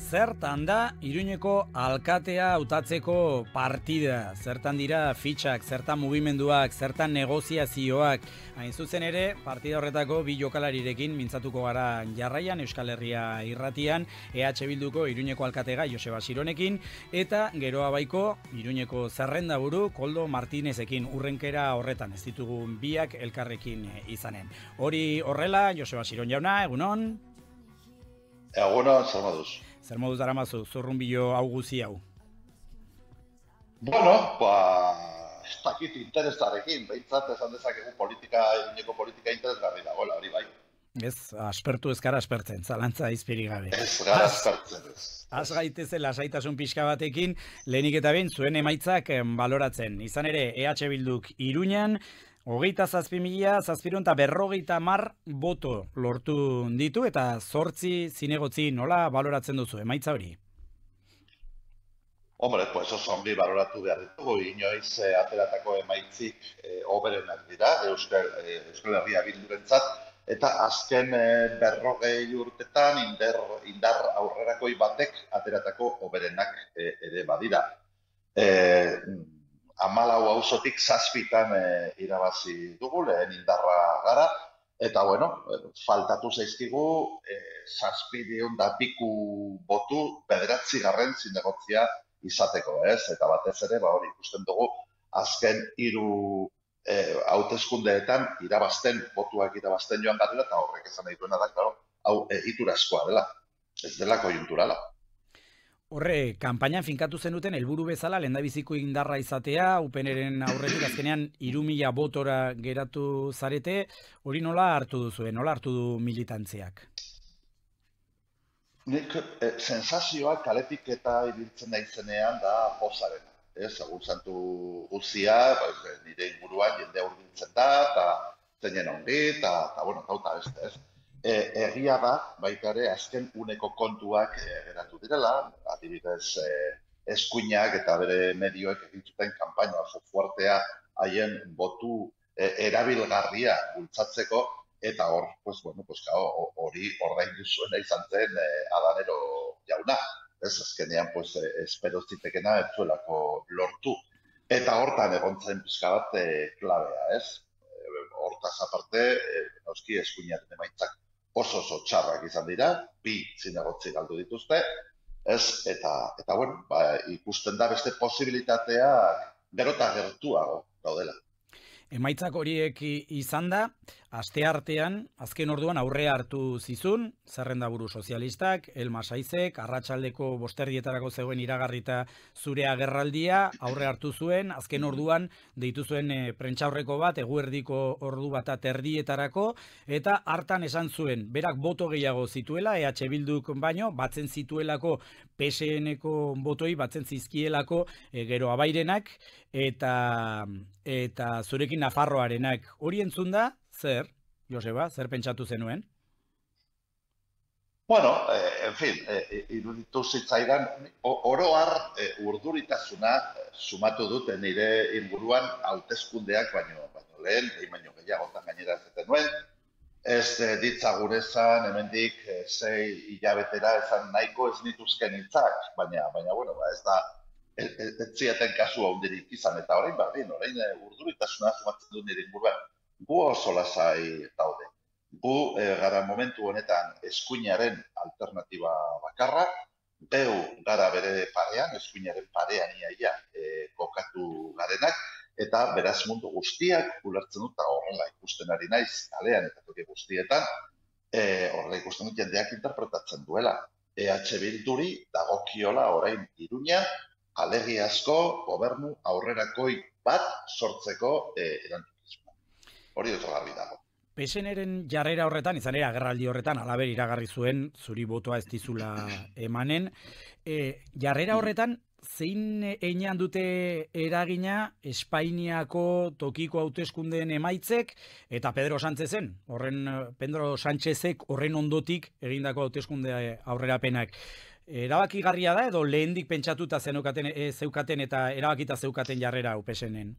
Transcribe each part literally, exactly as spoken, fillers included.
Zertan da Iruñeko alkatea hautatzeko partida? Zertan dira fitxak, zertan mugimenduak, zertan negoziazioak? Hain zuzen ere, partida horretako bi jokalarirekin mintzatuko gara jarraian Euskal Herria irratian, E H Bilduko Iruñeko alkatega Joseba Sironekin, eta geroa baiko Iruñeko zerrendaburu Koldo Martinezekin. Urrenkera horretan ez ditugun biak elkarrekin izanen. Hori horrela, Joseba Siron jauna, egunon? Egunon, zer moduz? Zer moduz daramazu, zurrunbilo hau guzi hau? Bueno, ba, ez dakit interesarekin, behintzat esan dezakegu politika, Iruñeko politika interesgarri dagoela, hori bai. Ez, aspertu ez gara aspertzen, zalantza izpiri gabe. Ez gara aspertzen ez. Az gaitezela lasaitasun pixka batekin, lehenik eta behin zuen emaitzak baloratzen. Izan ere, E H Bilduk Iruñan, hogeita zazpi mila, zazpiron eta berrogeita mar boto lortu ditu, eta zortzi zinegotzi nola baloratzen duzu, emaitza hori? Hombre, pues oso ongi baloratu behar ditugu, inoiz eh, ateratako emaitzik eh, oberenak dira, Euskal, eh, Euskal Herria Bildurentzat, eta azken eh, berrogei urtetan indar, indar aurrerakoi batek ateratako oberenak eh, ere badira. Eh, Amalau auzotik zazpitan e, irabazi dugu, lehen indarra gara, eta bueno, faltatu zaizkigu e, zazpideun da piku botu bederatzi garren zinegotzia izateko, ez? Eta batez ere, ba hori ikusten dugu, azken hiru e, hauteskundeetan irabazten, botuak irabazten joan garela, eta horrek esan nahi duena da, claro, hau egiturazkoa dela, ez dela koiunturala. Horre, kanpainan finkatu zenuten helburu bezala lehendabiziko indarra izatea, UPNren aurretik azkenean hiru mila botora geratu zarete, hori nola hartu duzue, nola hartu du militantziak? Nik eh, sensazioak kaletik eta ibiltzen naizenean da pozarena. Ez, egun santu guzia, ba, nire inguruan jende hurbiltzen da, eta zeinen ongi, eta, eta bueno, eta beste, ez. E, egia da, baita ere, azken uneko kontuak e, geratu direla, adibidez e, eskuinak eta bere medioek egin zuten kanpaina oso fuertea haien botu e, erabilgarria bultzatzeko, eta hor, pues, bueno, pues, hori ordaindu zuena izan zen e, Adanero jauna. Ez, azkenean, pues, e, espero zitekena ez zuelako lortu. Eta hortan egon zen pixka bat e, klabea, ez? E, hortaz aparte, e, noski eskuinaren emaitzak oso oso txarrak izan dira, bi zinegotzi galdu dituzte, ez, eta, eta bueno, ba, ikusten da beste posibilitatea gero eta gertuago daudela. Emaitzak horiek izan da, asteartean, azken orduan aurrea hartu zizun, zerrendaburu sozialistak, Elma Saizek, arratsaldeko bosterdietarako zegoen iragarrita zure agerraldia, aurre hartu zuen, azken orduan deitu zuen e, prentsaurreko bat, eguerdiko ordu bat erdietarako, eta hartan esan zuen, berak boto gehiago zituela, E H Bilduk baino, batzen zituelako P S N-ko botoi, batzen zizkielako e, gero abairenak, eta, eta zurekin Nafarroarenak. Hori entzun da, zer, Joseba, zer pentsatu zenuen? Bueno, eh, en fin, eh, iruditu zitzaidan, oroar eh, urduritasuna eh, sumatu dut nire inguruan hauteskundeak baino, baino lehen, behin baino gehiagotan gainera zeten nuen. Ez eh, ditzagun esan, hemendik eh, sei hilabetera esan nahiko ez nituzken hitzak, baina, baina, bueno, ba, ez da, ez, ez zieten kasua hundirik izan, eta orain bardin, orain eh, urduritasuna sumatzen du nire inguruan. Gu oso lasai daude. Gu e, gara momentu honetan eskuinaren alternatiba bakarra, beu gara bere parean, eskuinaren parean iaia e, kokatu garenak, eta beraz mundu guztiak ulertzen dut, eta horrela ikusten ari naiz, kalean eta toki guztietan, e, horrela ikusten dut jendeak interpretatzen duela. E H Bilduri dagokiola orain Iruña, alegiazko gobernu aurrerakoi bat sortzeko e, erantzun. Hori dut garbi dago. P S N-ren jarrera horretan, izan ere agerraldi horretan, alaber iragarri zuen, zuri botoa ez dizula emanen. E, jarrera horretan, zein einan dute eragina Espainiako tokiko hauteskundeen emaitzek, eta Pedro Sánchezen, horren, Pedro Sánchezek horren ondotik egindako hauteskunde aurrerapenak. Erabakigarria da, edo lehendik pentsatuta zeukaten, e, zeukaten eta erabakita zeukaten jarrera P S N-en?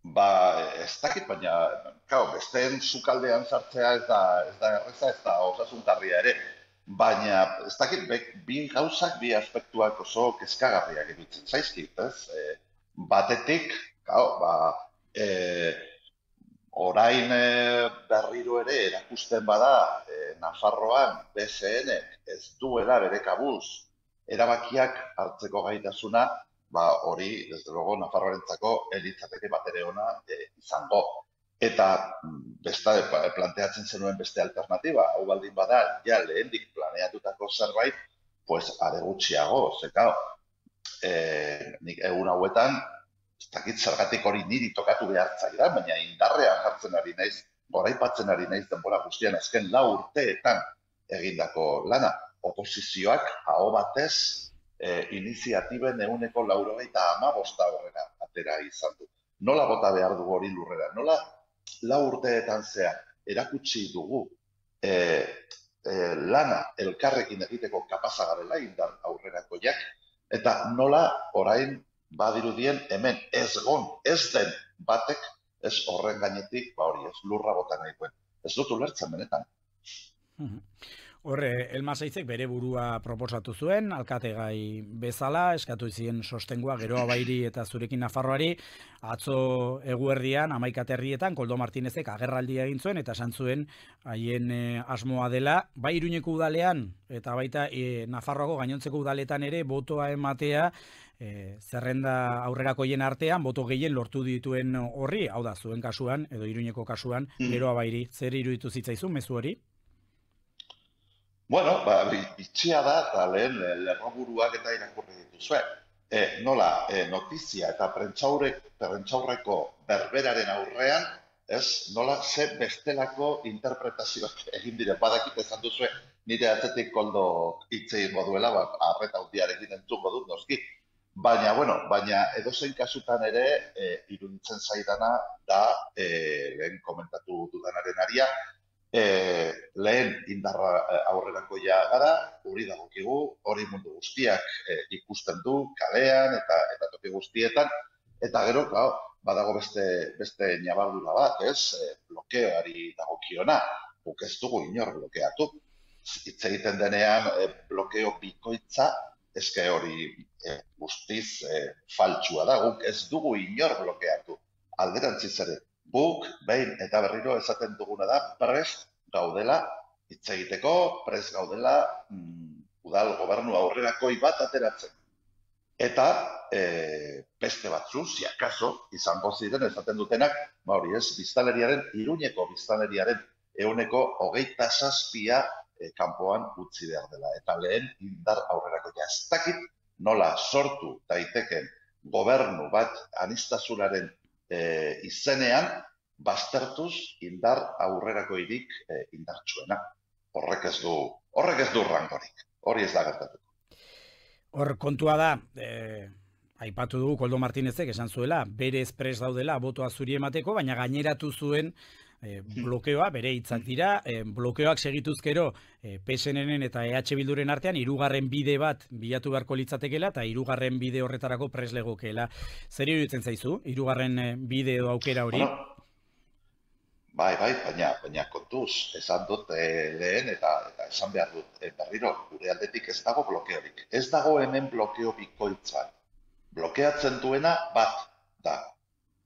Ba, ez dakit, baina, kau, besteen sukaldean sartzea ez da, ez da erreza, ez da osasungarria ere. baina ez dakit, bi gauzak, bi aspektuak oso kezkagarriak iruditzen zaizkit, ez? E, batetik, gau, ba, e, orain e, berriro ere erakusten bada e, Nafarroan B S N ez duela bere kabuz erabakiak hartzeko gaitasuna, ba hori, desde luego, Nafarroarentzako elitzateke bat ere ona e, izango. Eta beste planteatzen zenuen beste alternatiba, hau baldin bada, ja lehendik planeatutako zerbait, pues are gutxiago, zekao, e, nik egun hauetan, ez dakit zergatik hori niri tokatu behar zaidan, baina indarrean jartzen ari naiz, goraipatzen ari naiz denbora guztian azken lau urteetan egindako lana. Oposizioak aho batez e, iniziatiben ehuneko laurogeita hamabosta horrela atera izan du. Nola bota behar dugu hori lurrera? Nola lau urteetan zehar erakutsi dugu e, e, lana elkarrekin egiteko kapaza garela indar aurrerakoiak, eta nola orain badirudien hemen ez gon, ez den batek, ez horren gainetik, ba hori ez lurra bota nahi duen. Ez dut ulertzen benetan. Horre, Elmasaizek bere burua proposatu zuen, alkategai bezala, eskatu zien sostengua Geroa Bairi eta Zurekin Nafarroari, atzo eguerdian, hamaika herrietan, Koldo Martinezek agerraldia egin zuen, eta esan zuen haien e, asmoa dela, bai Iruñeko udalean, eta baita e, Nafarroako gainontzeko udaletan ere, botoa ematea, e, zerrenda aurrerakoien artean, boto gehien lortu dituen horri, hau da, zuen kasuan, edo Iruñeko kasuan, Geroa Bairi, zer iruditu zitzaizun, mezu hori? Bueno, ba, bitxia da, eta lehen lerroburuak eta irakurri dituzue. E, nola, e, notizia eta prentsaurreko berberaren aurrean, ez, nola ze bestelako interpretazioak egin dire. Badakit esan duzue, nire atzetik Koldo hitz egingo duela, ba, arreta hundiarekin entzungo dut, noski. Baina, bueno, baina edozein kasutan ere, e, iruditzen zaidana da, e, lehen komentatu dudanaren aria, E, lehen indarra aurrerakoia gara, hori dagokigu, hori mundu guztiak e, ikusten du, kalean eta eta toki guztietan, eta gero, claro, badago beste beste ñabardura bat, ez? E, blokeoari dagokiona, guk ez dugu inor blokeatu. Hitz egiten denean e, blokeo bikoitza, eske hori e, guztiz e, faltsua da, guk ez dugu inor blokeatu. Alderantziz ere, guk, behin eta berriro esaten duguna da, prest gaudela, hitz egiteko, prest gaudela, mm, udal gobernu aurrerakoi bat ateratzen. Eta e, beste batzu, si akaso, izango ziren esaten dutenak, ba hori ez, biztanleriaren, Iruñeko biztanleriaren ehuneko hogeita zazpia e, kanpoan utzi behar dela. Eta lehen indar aurrerakoia ez dakit nola sortu daiteken gobernu bat aniztasunaren E, izenean, baztertuz indar aurrerakoirik e, indartsuena. Horrek ez du, horrek ez du rangorik. Hori ez da gertatuko. Hor kontua da, e, aipatu dugu Koldo Martinezek esan zuela, bere espres daudela botoa zuri emateko, baina gaineratu zuen e, blokeoa, bere hitzak dira, e, blokeoak segituzkero e, P S N-en eta E H Bilduren artean hirugarren bide bat bilatu beharko litzatekeela eta hirugarren bide horretarako preslegokeela. Zer iruditzen zaizu, hirugarren bide edo aukera hori? Bueno, bai, bai, baina, baina kontuz, esan dut e, lehen eta, eta esan behar dut, e, berriro, gure aldetik ez dago blokeorik. Ez dago hemen blokeo bikoitzan. Blokeatzen duena bat da.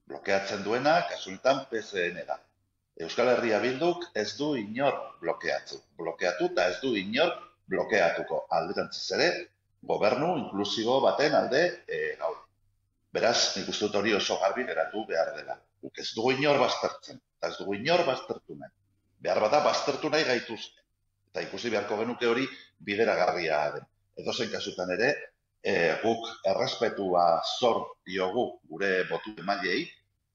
Blokeatzen duena, kasunetan P S N da. Euskal Herria Bilduk ez du inor blokeatu. Blokeatu eta ez du inor blokeatuko. Alderantziz ere, gobernu inklusibo baten alde e, gaude. Beraz, nik uste dut hori oso garbi geratu behar dela. Guk ez dugu inor baztertzen, eta ez dugu inor baztertu nahi. Behar bada baztertu nahi gaituzte. Eta ikusi beharko genuke hori bideragarria den. Edozein kasutan ere, e, guk errespetua zor diogu gure botu emailei,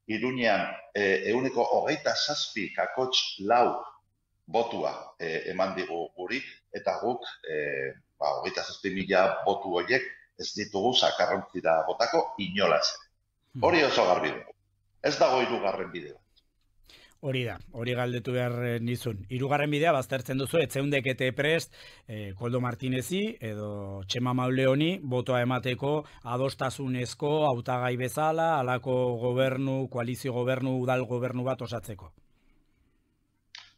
Iruñean ehuneko hogeita zazpi kakots lau botua e, eman digu guri, eta guk e, ba, hogeita zazpi mila botu horiek ez ditugu sakarrontzira botako inolaz. Hori oso garbi dugu. Ez dago hirugarren bidea. Hori da, hori galdetu behar nizun. Hirugarren bidea baztertzen duzu, etzeundekete prest, eh, Koldo Martinezi edo Txema Mauleoni botoa emateko adostasunezko hautagai bezala, halako gobernu, koalizio gobernu, udal gobernu bat osatzeko.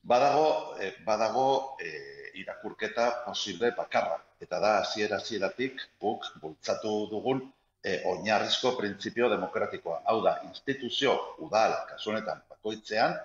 Badago, eh, badago eh, irakurketa posible bakarra. Eta da, hasiera hasieratik guk bultzatu dugun e, oinarrizko printzipio demokratikoa. Hau da, instituzio udal, kasu honetan bakoitzean,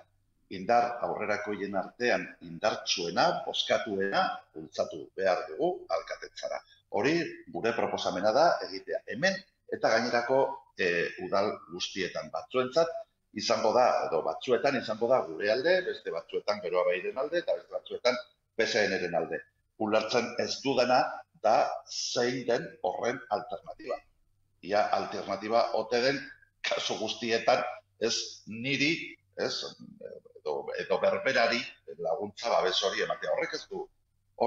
indar aurrerakoien artean indartsuena, bozkatuena, bultzatu behar dugu alkatetzara. Hori gure proposamena da egitea hemen eta gainerako e, udal guztietan batzuentzat izango da, edo batzuetan izango da gure alde, beste batzuetan Geroa Bairen alde, eta beste batzuetan P S N-ren alde. Ulertzen ez dudana da zein den horren alternatiba. Ia alternatiba ote den kasu guztietan ez niri, ez, edo, edo berberari laguntza babes hori ematea. Horrek ez du,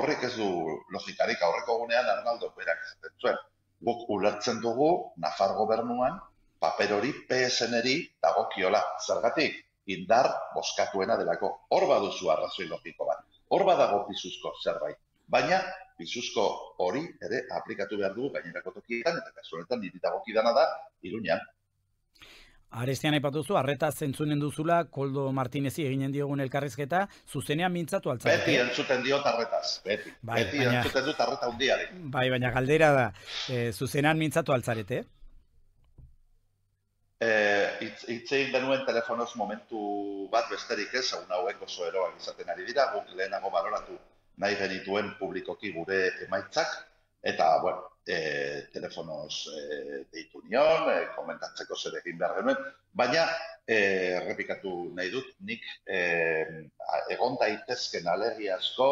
horrek ez du logikarik, aurreko gunean Arnaldo berak esaten zuen. Guk ulertzen dugu Nafar gobernuan paper hori P S N-ri dagokiola. Zergatik, indar bozkatuena delako. Hor baduzu arrazoi logiko bat. Hor badago pisuzko zerbait. Baina, pisuzko hori ere aplikatu behar dugu gainerako tokietan, eta kasu honetan niri dagokidana da Iruñan. Arestian aipatuzu, arreta zentzunen duzula, Koldo Martinezi eginen diogun elkarrizketa, zuzenean mintzatu altzarete. Beti entzuten diot arretaz, beti. Bai, beti baina, entzuten dut arreta hundiari. Bai, baina galdera da, e, zuzenean mintzatu altzarete? Hitz egin denuen telefonoz momentu bat besterik ez, haun hauek oso eroak izaten ari dira, guk lehenago baloratu nahi genituen publikoki gure emaitzak, eta, bueno, e, telefonoz e, deitu nion, e, komentatzeko zer egin behar genuen, baina, e, errepikatu nahi dut, nik e, egon daitezken alergi asko,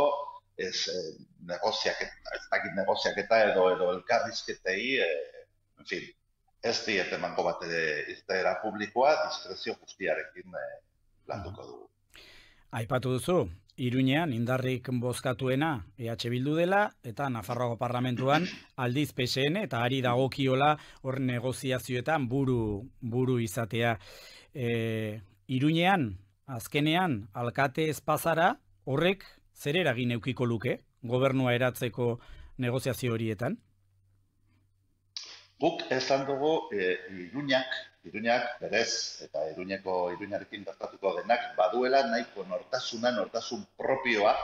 ez e, negoziaketa, ez dakit negoziaketa edo, edo elkarrizketei, e, en fin, ez diet emango bat ere iztera publikoa, diskrezio guztiarekin e, landuko dugu. Aipatu duzu, Iruñean indarrik bozkatuena E H Bildu dela, eta Nafarroako parlamentuan aldiz P S N, eta ari dagokiola hor negoziazioetan buru, buru izatea. E, Iruñean, azkenean, alkate espazara, horrek zer eragin eukiko luke, gobernua eratzeko negoziazio horietan? Guk esan dugu e, Iruñak, Iruñak berez, eta Iruñeko Iruñarekin gertatuko denak, baduela nahiko nortasuna, nortasun propioa,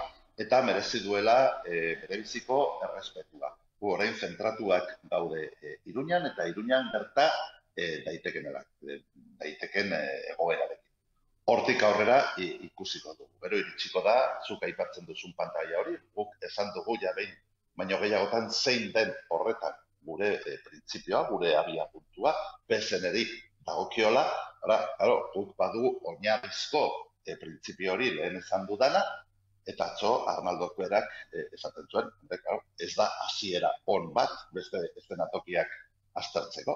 eta merezi duela e, berebiziko errespetua. Gu orain zentratuak daude e, Iruñan, eta Iruñan gerta e, daiteken, e, daiteken e, egoerarekin. Hortik aurrera i, ikusiko dugu. Gero iritsiko da, zuk aipatzen duzun pantaila hori, guk esan dugu ja behin, baino gehiagotan zein den horretan gure e, printzipioa, gure abia puntua, P S N-ri dagokiola, claro, guk badu oinarrizko e, printzipio hori lehen esan dudana, eta atzo Arnaldok berak e, esaten zuen, claro, ez da hasiera on bat, beste eszenatokiak aztertzeko.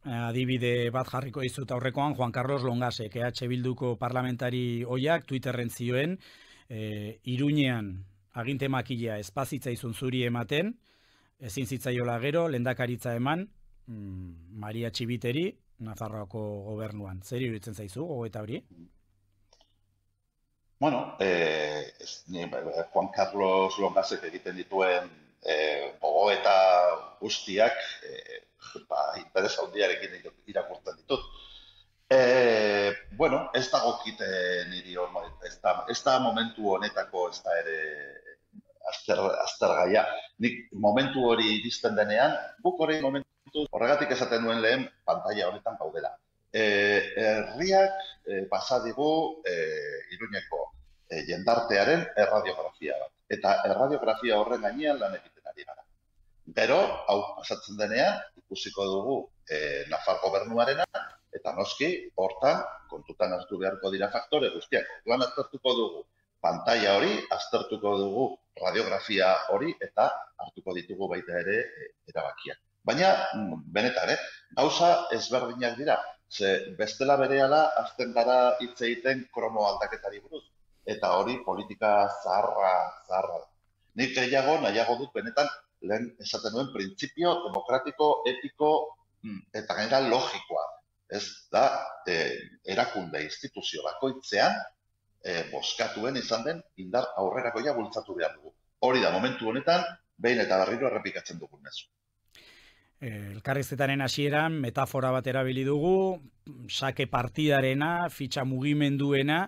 Adibide bat jarriko dizut aurrekoan, Juan Carlos Longasek, E H Bilduko parlamentari oiak, Twitterren zioen, e, Iruñean aginte makila espazitzaizun zuri ematen, ezin zitzaiola gero, lehendakaritza eman, mm, Maria Txibiteri, Nafarroako gobernuan. Zer iruditzen zaizu, gogoeta hori? Bueno, eh, ez, ni, Juan Carlos Longasek egiten dituen eh, gogoeta guztiak eh, ba, interes handiarekin irakurtzen ditut. Eh, bueno, ez dagokite niri hor, ez da, ez da momentu honetako ez da ere azter, aztergaia. Nik momentu hori iristen denean, buk hori momentu horregatik esaten duen lehen pantaila honetan gaudela. E, herriak e, pasadigu e, Iruñeko e, jendartearen erradiografia bat. Eta erradiografia horren gainean lan egiten ari gara. Gero, hau pasatzen denean, ikusiko dugu e, Nafar gobernuarena, eta noski, hortan, kontutan hartu beharko dira faktore guztiak. Lan aztertuko dugu pantaila hori, aztertuko dugu radiografia hori, eta hartuko ditugu baita ere e, erabakiak. Baina, benetan, eh? Gauza ezberdinak dira. Ze bestela berehala azten gara hitz egiten kromo aldaketari buruz. Eta hori politika zaharra, zaharra da. Nik gehiago, nahiago dut benetan, lehen esaten duen printzipio demokratiko, etiko eta gainera logikoa. Ez da, e, erakunde instituzio bakoitzean, e, bozkatuen izan den indar aurrerakoia bultzatu behar dugu. Hori da, momentu honetan, behin eta berriro errepikatzen dugun mezu. Elkarrizketaren hasieran metafora bat erabili dugu, sake partidarena, fitxa mugimenduena,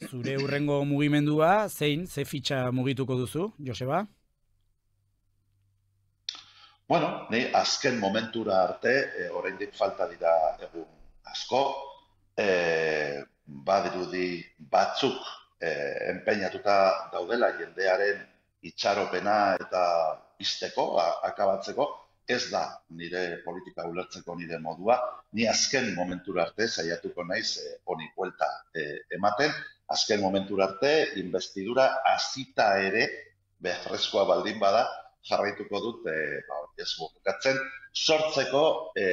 Zure hurrengo mugimendua, zein, ze fitxa mugituko duzu, Joseba? Bueno, ni azken momentura arte, e, oraindik falta dira egun asko, e, badirudi batzuk e, enpeinatuta daudela jendearen itxaropena eta izteko, akabatzeko, ez da nire politika ulertzeko nire modua, ni azken momentura arte saiatuko naiz e, honi buelta e, ematen, azken momentura arte, investidura hasita ere, beharrezkoa baldin bada, jarraituko dut, e, ba, ez bukatzen, sortzeko e,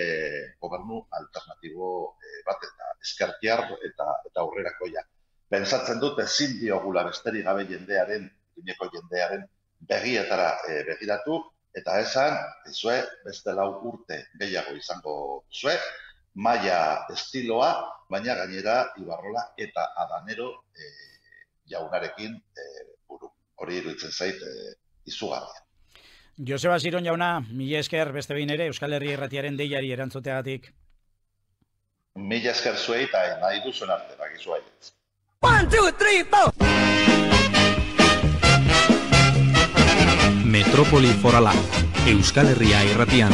gobernu alternatibo e, bat eta ezkertiar eta, eta aurrerakoia. Pentsatzen dut ezin diogula besterik gabe jendearen, dineko jendearen begietara e, begiratu, eta esan, ezue, beste lau urte gehiago izango zue, maila estiloa, baina gainera Ibarrola eta Adanero e, jaunarekin e, buru. Hori iruditzen zait e, izugarria. Joseba Siron jauna, mila esker beste behin ere Euskal Herria Irratiaren deiari erantzuteagatik. Mila esker zuei eta nahi duzuen arte, bakizu haitz. One, two, three, four! Metropoli Forala, Euskal Herria Irratian.